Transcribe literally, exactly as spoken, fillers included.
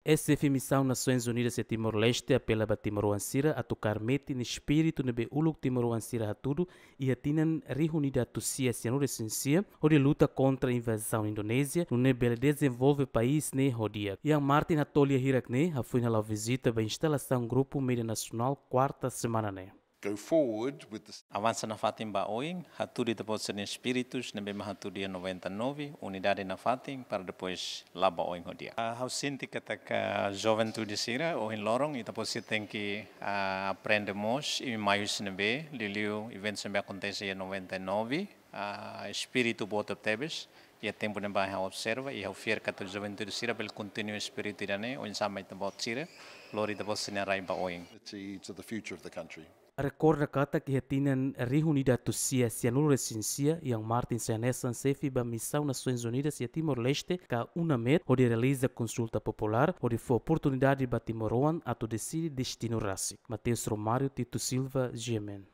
Xefe Misaun Nasoins Unidas iha Timor-Leste apela ba timoroan sira atu kaer metin espíritu ne'ebé uluk timoroan sira hatudu iha tinan rihun ida atus sia sianulu resin sia, hodi luta kontra invazaun Indonézia, nune'e bele dezenvolve país ne'e ho di'ak. Ian Martin hato'o lia hirak ne'e hafoin hala'o vizita ba instalasaun grupu média nasionál kuarta semana ne'e. Go forward with the Avansa nafatin ba oin, hatudu ita-boot sira-nia espíritus ne'ebé mak hatudu iha noventa e nove, unidade nafatin, para depois la'o ba oin ho di'ak. Ah, ha'u sente katak joventude sira, ohin loron, ita-boot sira tenke, ah, aprende mós, i maius ne'ebé, liuliu eventus ne'ebé akontese iha noventa e nove, ah, espíritu boot tebes, iha tempu ne'ebá ha'u observa, i ha'u fiar katak joventude sira bele kontinua espíritu ida-ne'e, oinsá mak ita-boot sira, lori ita-boot sira-nia rai ba oin. To, to the future of the country. Rekorda katak iha tinan rihun ida atus sia sianulu resin sia, Ian Martin sai hanesan xefe ba Misaun Nasoins Unidas iha Timor-Leste, ka UNAMET, hodi realiza konsulta populár, hodi fó oportunidade ba timoroan atu deside destinu rasik. Mateus Romário, Tito Silva, G M N.